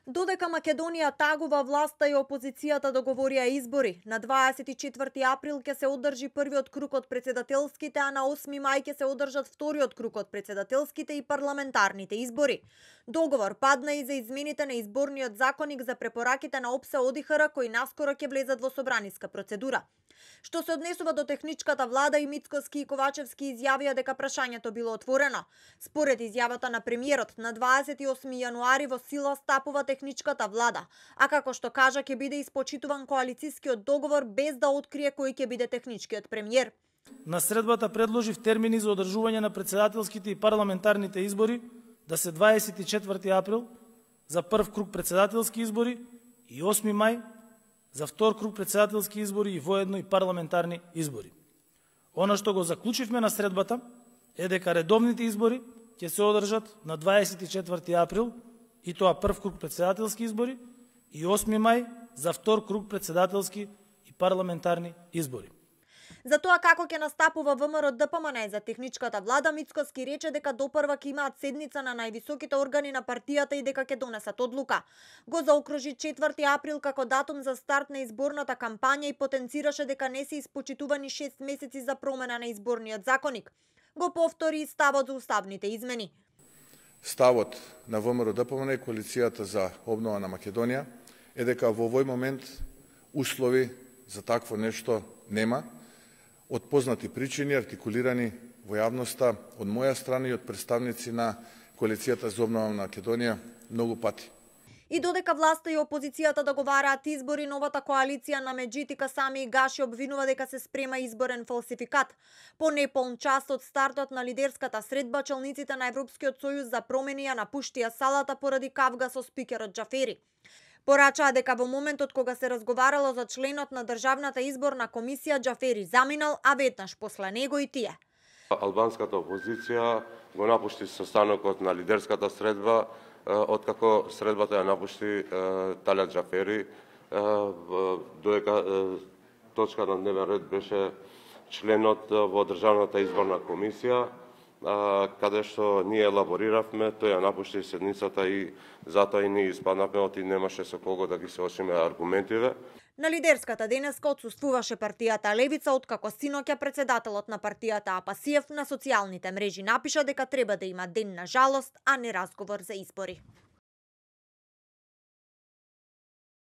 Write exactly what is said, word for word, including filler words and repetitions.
Додека Македонија тагува, власта и опозицијата договорија избори. На дваесет и четврти април ќе се одржи првиот круг од председателските, а на осми мај ќе се одржат вториот круг од председателските и парламентарните избори. Договор падна и за измените на изборниот законник за препораките на ОПСЕ ОДИХР кои наскоро ќе влезат во собраниска процедура. Што се однесува до техничката влада, и Мицкоски и Ковачевски изјавија дека прашањето било отворено. Според изјавата на премиерот, на дваесет и осми јануари во сила стапува техничката влада, а како што кажа ќе биде испочитуван коалицискиот договор без да открие кој ќе биде техничкиот премиер. На средбата предложив термини за одржување на председателските и парламентарните избори да се дваесет и четврти април за прв круг председателски избори и осми мај за втор круг председателски избори и воедно и парламентарни избори. Она што го заклучивме на средбата е дека редовните избори ќе се одржат на дваесет и четврти април, и тоа прв круг председателски избори, и осми мај за втор круг председателски и парламентарни избори. За тоа како ќе настапува ВМРО-ДПМН за техничката влада, Мицкоски рече дека допрва ќе имаат седница на највисоките органи на партијата и дека ќе донесат одлука. Го заокружи четврти април како датум за старт на изборната кампања и потенцираше дека не се испочитувани шест месеци за промена на изборниот законник. Го повтори и ставот за уставните измени. Ставот на ВМРО-ДПМН и коалицијата за обнова на Македонија е дека во овој момент услови за такво нешто нема, од познати причини артикулирани во јавноста од моја страна и од представници на коалицијата за обнова на Македонија многу пати. И додека власта и опозицијата договараат избори, новата коалиција на Меджитика Сами и Гаши обвинува дека се спрема изборен фалсификат. По неполн час од стартот на лидерската средба, челниците на Европскиот сојуз за промени ја напуштија салата поради кавга со спикерот Џафери. Порачаа дека во моментот кога се разговарало за членот на Државната изборна комисија, Џафери заминал, а веднаш после него и тие. Албанската опозиција го напушти состанокот на лидерската средба, откако средбата ја напушти Талјат Џафери, додека точка на дневен ред беше членот во Државната изборна комисија, каде што ние елабориравме, тој ја напушти седницата и затоа и ние испаднавме од и немаше со кого да ги соочиме аргументиве. На лидерската денеска отсуствуваше партијата Левица, откако синоќа председателот на партијата Апасиев на социјалните мрежи напиша дека треба да има ден на жалост, а не разговор за избори.